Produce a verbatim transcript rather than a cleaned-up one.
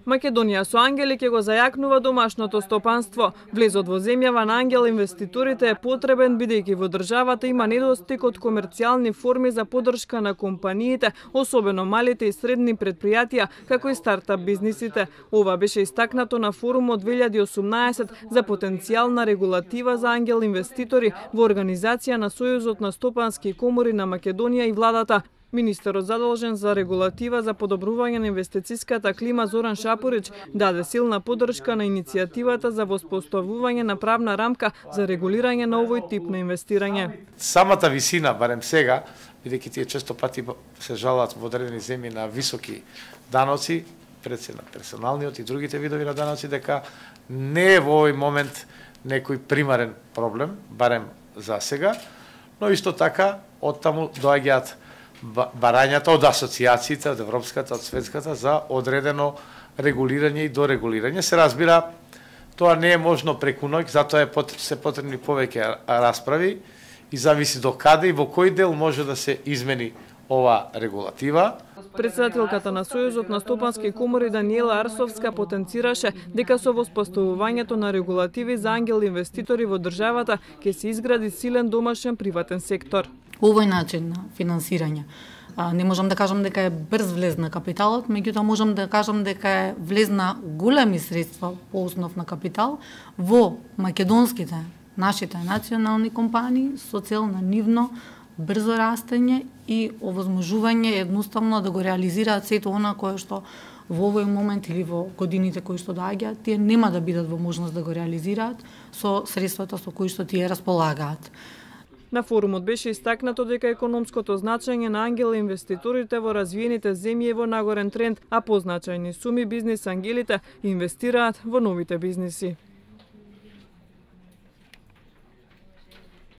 Македонија со ангели ќе го зајакнува домашното стопанство. Влезот во земјава на ангел инвеститорите е потребен бидејќи во државата има недостиг од комерцијални форми за поддршка на компаниите, особено малите и средни предпријатија, како и стартап бизнисите. Ова беше истакнато на форумот две илјади и осумнаесет за потенцијална регулатива за ангел инвеститори во организација на Сојузот на стопански комори на Македонија и владата. Министерот задолжен за регулатива за подобрување на инвестициската клима Зоран Шапорич даде силна поддршка на иницијативата за воспоставување на правна рамка за регулирање на овој тип на инвестирање. Самата висина, барем сега, бидејќи тие често пати се жалат во одредени земји на високи даноци, пред се на персоналниот и другите видови на даноци, дека не е во овој момент некој примарен проблем, барем за сега, но исто така оттаму доаѓаат барањата од асоциациите, од европската, од светската, за одредено регулирање и дорегулирање. Се разбира, тоа не е можно преку ноќ, затоа е пот, се потребни повеќе расправи и зависи до каде и во кој дел може да се измени ова регулатива. Председателката на Сојузот на стопански комори Даниела Арсовска потенцираше дека со воспоставувањето на регулативи за ангел инвеститори во државата ќе се изгради силен домашен приватен сектор. Овој начин на финансирање. Не можам да кажам дека е брз влез на капиталот, меѓутоа можам да кажам дека е влез на големи средства по основ на капитал во македонските, нашите национални компании со цел на нивно брзо растење и овозможување едноставно да го реализираат сето она кое што во овој момент или во годините кои што доаѓаат, тие нема да бидат во можност да го реализираат со средствата со кои што тие располагаат. На форумот беше истакнато дека економското значење на ангел инвеститорите во развиените земји е во нагорен тренд, а позначајни суми бизнис ангелите инвестираат во новите бизниси.